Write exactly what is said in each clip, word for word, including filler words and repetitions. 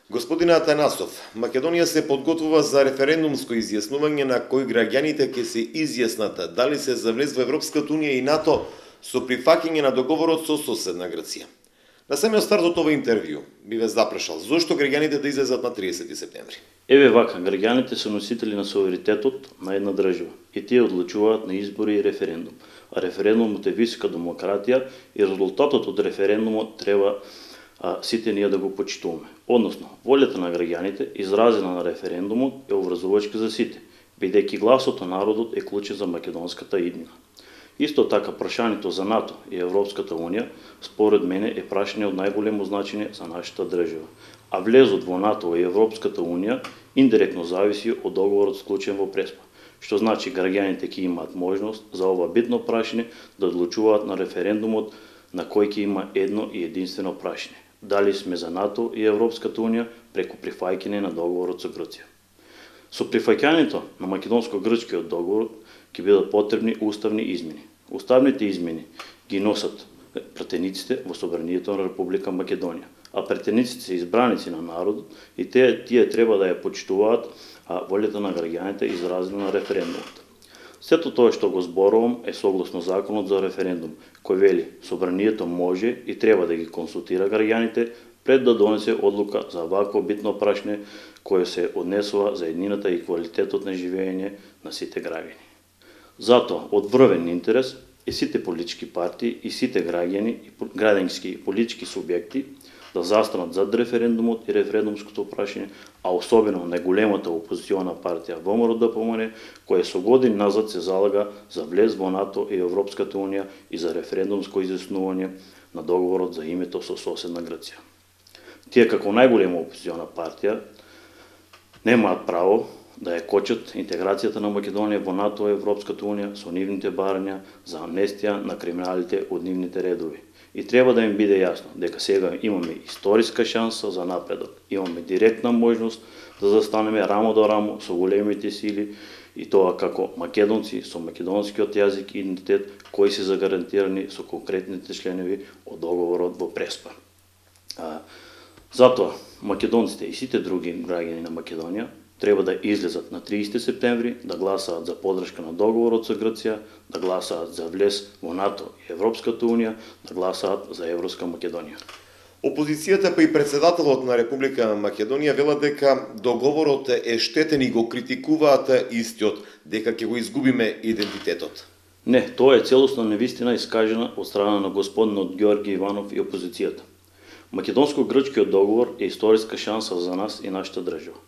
Господине Атанасов, Македонија се подготвува за референдумско изјаснување на кои граѓаните ќе се изјаснат дали се за влез во Европската унија и НАТО со прифаќање на договорот со соседна Грција. На самиот старт од ова интервју би ве запрашал зошто граѓаните да излезат на триесети септември. Еве вака, граѓаните се носители на суверенитетот на една држава и тие одлучуваат на избори и референдум. А референдумот е висока демократија и резултатот од референдумот треба а, сите ние да го почитуваме. Односно, волјата на граѓаните изразена на референдумот е обврзувачка за сите, бидејќи гласот на народот е клучен за македонската иднина. Исто така, прашањето за НАТО и Европската унија, според мене, е прашање од најголемо значење за нашата држава. А влезот во НАТО и Европската унија индиректно зависи од договорот склучен во Преспа, што значи граѓаните ќе имаат можност за ова битно прашање да одлучуваат на референдумот на кој ќе има едно и единствено прашање: дали сме за НАТО и Европската унија преку прифаќање на договорот со Грција. Со прифаќањето на македонско-грчкиот договор ќе бидат потребни уставни измени. Уставните измени ги носат пратениците во собранието на Република Македонија, а пратениците се избраници на народот и тие, тие треба да ја почитуваат волјата на граѓаните изразена на референдумот. Сето тоа што го зборувам е согласно законот за референдум, кој вели собранието може и треба да ги консултира граѓаните пред да донесе одлука за вакво битно прашање кое се однесува за еднината и квалитетот на живење на сите граѓани. Затоа, од врвен интерес е сите политички партии и сите граѓани и граѓански и политички субјекти да застанат зад референдумот и референдумското прашање, а особено најголемата опозициона партија ВМРО-ДПМН, која со години назад се залага за влез во НАТО и Европската унија и за референдумско изјаснување на договорот за името со соседна Грција. Тие како најголема опозициона партија немаат право да ја кочат интеграцијата на Македонија во НАТО и Европската унија со нивните барања за амнестија на криминалите од нивните редови. И треба да им биде јасно дека сега имаме историска шанса за напредок. Имаме директна можност да застанеме рамо до рамо со големите сили и тоа како македонци со македонскиот јазик и идентитет кои се загарантирани со конкретните членови од договорот во Преспа. А, затоа македонците и сите други граѓани на Македонија треба да излезат на триесети септември, да гласаат за поддршка на договорот со Грција, да гласаат за влез во НАТО и Европската унија, да гласаат за Европска Македонија. Опозицијата па и председателот на Република Македонија велат дека договорот е штетен и го критикуваат истиот, дека ќе го изгубиме идентитетот. Не, тоа е целосна невистина искажена од страна на господинот Ѓорги Иванов и опозицијата. Македонско-грчкиот договор е историска шанса за нас и нашата држава.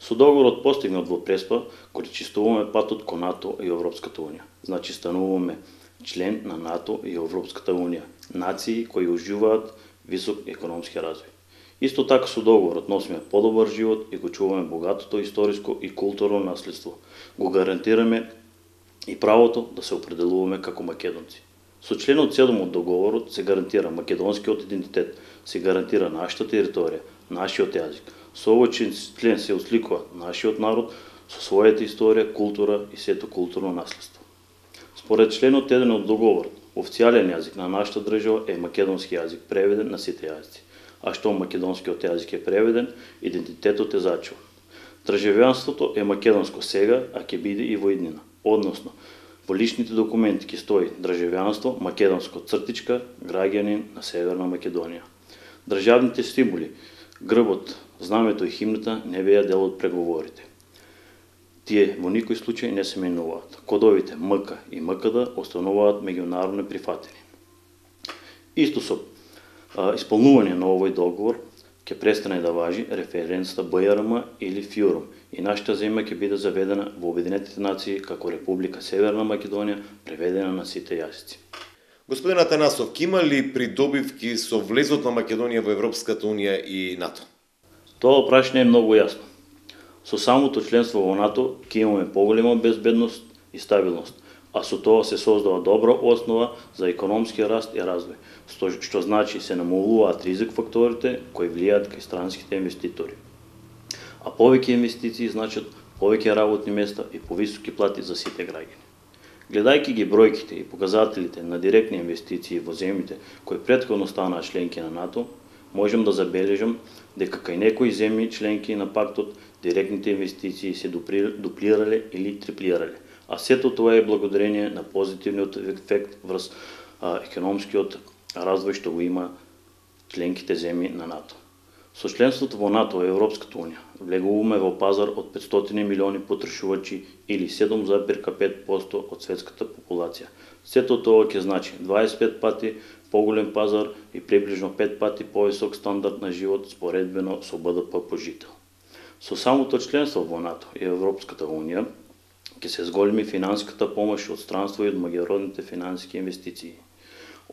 Со договорот постигнат во Преспа, кој чистуваме патот кон НАТО и Европската унија. Значи стануваме член на НАТО и Европската унија, нации кои уживаат висок економски развој. Исто така со договорот носиме подобар живот и го чуваме богатото историско и културно наследство. Го гарантираме и правото да се определуваме како македонци. Со членот седум од договорот се гарантира македонскиот идентитет, се гарантира нашата територија, нашиот јазик. Со овој член се осликува нашиот народ со својата историја, култура и сето културно наследство. Според членот еден од договорот, официјален јазик на нашата држава е македонски јазик, преведен на сите јазици. А што македонскиот јазик е преведен, идентитетот е зачуван. Државјанството е македонско сега, а ќе биде и во иднина. Односно, во личните документи ќе стои државјанство, македонско цртичка, граѓанин на Северна Македонија. Државните символи, грбот, знамето и химната не беа дел од преговорите. Тие во никој случај не се менуваат. Кодовите МК и МКД остануваат меѓународно прифатени. Исто со а, исполнување на овој договор ќе престане да важи референцата БЈРМ или ФЮРМ и нашата земја ќе биде заведена во Обединетите нации како Република Северна Македонија, преведена на сите јазици. Господин Атанасов, има ли придобивки со влезот на Македонија во Европската унија и НАТО? Тоа прашање е многу јасно. Со самото членство во НАТО ќе имаме поголема безбедност и стабилност, а со тоа се создава добра основа за економски раст и развој, што значи се намалуваат ризик факторите кои влијаат кај странските инвеститори. А повеќе инвестиции значат повеќе работни места и повисоки плати за сите граѓани. Гледајќи ги бројките и показателите на директни инвестиции во земјите кои претходно станаа членки на НАТО, можем да забележам дека кај некои земји членки на пактот директните инвестиции се дуплирале или триплирале, а сето тоа е благодарение на позитивниот ефект врз а, економскиот развој што го има членките земји на НАТО. Со членството во НАТО и Европската унија влегуваме во пазар од петстотини милиони потрошувачи или седум зарез пет проценти од светската популација. Сето тоа ќе значи дваесет и пет пати поголем пазар и приближно пет пати повисок стандард на живот споредбено со Б Д П по жител. Со самото членство во НАТО и Европската унија ќе се зголеми финансиската помош од странство и од меѓународните финансиски инвестиции.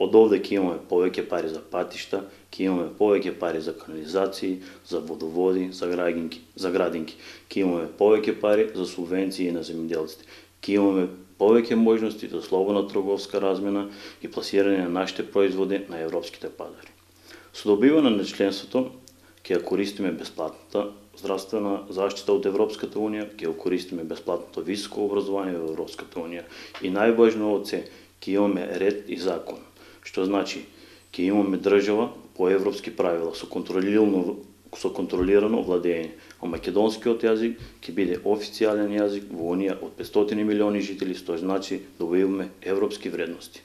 Од овде ќе имаме повеќе пари за патишта, ќе имаме повеќе пари за канализации, за водоводи, за градинки, за градинки. Ќе имаме повеќе пари за субвенции на земјоделците. Ќе имаме повеќе можности за слободна трговска размена и пласирање на нашите производи на европските пазари. Со добивање на членството ќе ја користиме бесплатната здравствена заштита од Европската унија, ќе ја користиме бесплатното високо образование во Европската унија и најважно од се, ќе имаме ред и закон. Што значи, ќе имаме држава по европски правила со контролирано со контролирано владење, а македонскиот јазик ќе биде официјален јазик во Унија од петстотини милиони жители, што значи добиваме европски вредности.